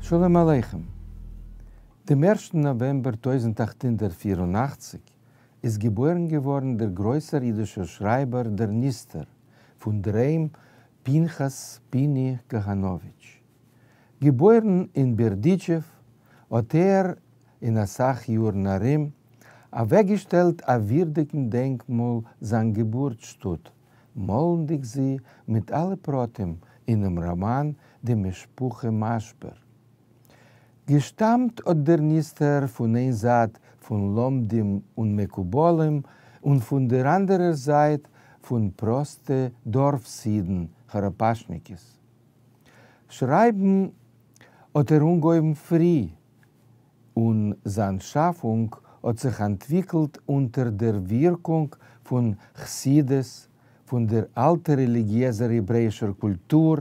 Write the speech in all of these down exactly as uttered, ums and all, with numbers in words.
שלום עליכם. דעם ערשטן נאוועמבער טויזנט אַכט הונדערט פֿיר און אַכציק איז געבוירן געווארן דער גרויסער אידישער שרייבער דער נסתר, פון דער היים פנחס פיני קאהאנאוויטש. געבוירן אין בערדיטשעוו, האט ער אין א סך יארן ארום אוועקגעשטעלט א ווירדיגן דענקמאל זיין געבורטסשטאט, מאלנדיג זי מיט אלע פרטים אינעם ראמאן די משפחה מאשבער. געשטאמט האט דער נסתר פון איין זייט פון לומדים און מקובלים און פון דער אנדערער זייט פון פראסטע דארפס-אידן, כאראפאשניקעס. שרייבן האט ער אנגעהויבן פרי, און זיין שאפונג האט זיך אנטוויקלט אונטער דער ווירקונג פון חסידות, פון דער אלטער רעליגיעזער העברעאישער קולטור,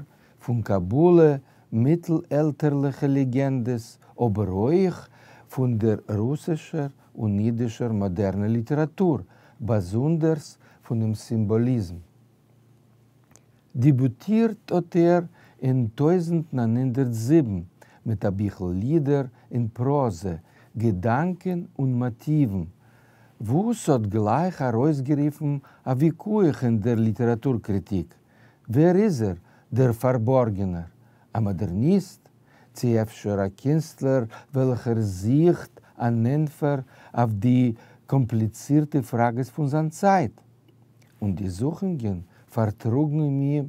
פון קבלה, מיטלעלטערליכע לעגענדעס, אבער אויך פון דער רוסישער און אידישער מאדערנער ליטעראטור, באזונדערס פונעם סימבאליזם. דעביוטירט האט ער אין טויזנט נײַן הונדערט זיבן מיט א ביכל לידער אין פראזע, געדאנקען און מאטיוון, וואס האט גלייך ארויסגערופן א וויכוח אין דער ליטעראטור-קריטיק, ווער איז ער, דער פארבארגענער? א מאדערניסט? צי אפשר א קינסטלער וועלכער זוכט אן ענטפער אויף די קאמפליצירטע פראגעס פון זיין צייט? און די זוכונגען פארטראגן אים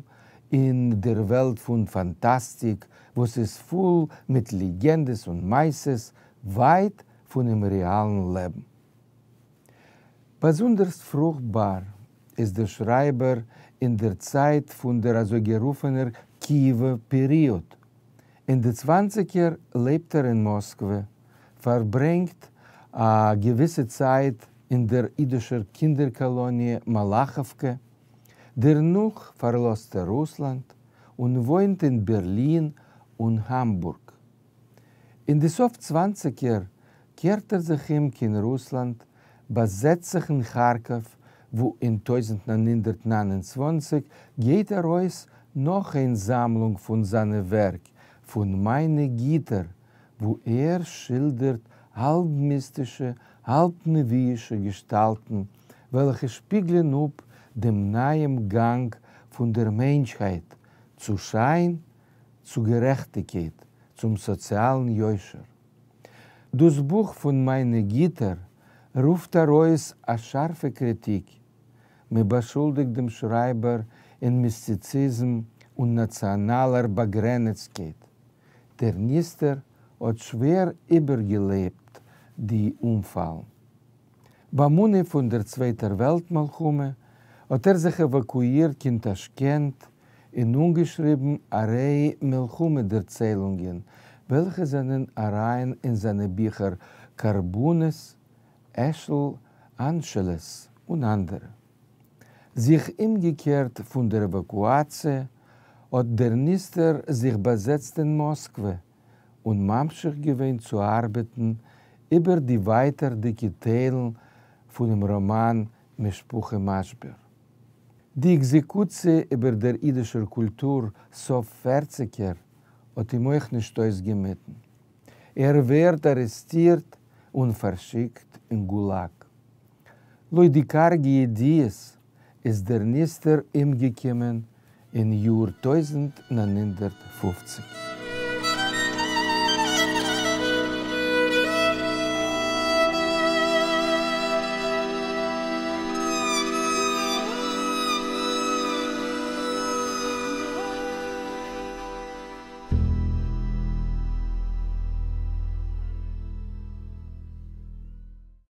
אין דער וועלט פון פאנטאסטיק, וואס איז פול מיט לעגענדעס און מעשיות, ווייט פונעם רעאלן לעבן. באזונדערס פרוכטבאר איז דער שרייבער אין דער צייט פון דער אזוי-גערופענער קיעווער פעריאד. אין די צוואנציגער לעבט ער אין מאסקווע, פארברענגט א געוויסע צייט אין דער אידישער קינדער-קאלאניע מאלאכאווקע, דערנאך פארלאזט ער רוסלאנד און וואוינט אין בערלין און האמבורג. אין די סוף צוואנציגער קערט ער זיך אום קיין רוסלאנד, באזעצט זיך אין כארקאוו, וואו אין טויזנט נײַן הונדערט נײַן און צוואַנציק גייט ארויס נאך איין זאמלונג פון זיינע ווערק, פון מיינע גיטער, וואו ער שילדערט האלב-מיסטישע, האלב-נביאישע געשטאלטן, וועלכע שפיגלען אפ דעם נייעם גאנג פון דער מענטשהייט צו שיין, צו גערעכטיגקייט, צום סאציאלן יושר. דאס בוך פון מיינע גיטער רופט ארויס א שארפע קריטיק. מען באשולדיגט דעם שרייבער אין מיסטיציזם און נאציאנאלער באגרעניצטקייט. דער נסתר האט שווער איבערגעלעבט די אנפאלן. ביים אנהייב פון דער צווייטער וועלט מלחמה האט ער זיך עוואקואירט קיין טאשקענט און אנגעשריבן א ריי מלחמה דערציילונגען, וועלכע זענען אריין אין זיינע ביכער קרבנות, אשל אנשלס און אנדערע. זיך אומגעקערט פון דער עוואקואציע, האט דער נסתר זיך באזעצט אין מאסקווע און ממשיך געווען צו ארבעטן איבער די ווייטערדיגע טיילן פונעם ראמאן משפחה מאשבער. די עקזעקוציע איבער דער אידישער קולטור סוף פערציגער האט אים אויך נישט אויסגעמיטן. ער ווערט ארעסטירט און פארשיקט אין גולאג. לויט די קארגע ידיעות איז דער נסתר אומגעקומען אין יאר טויזנט נײַן הונדערט פֿופֿציק.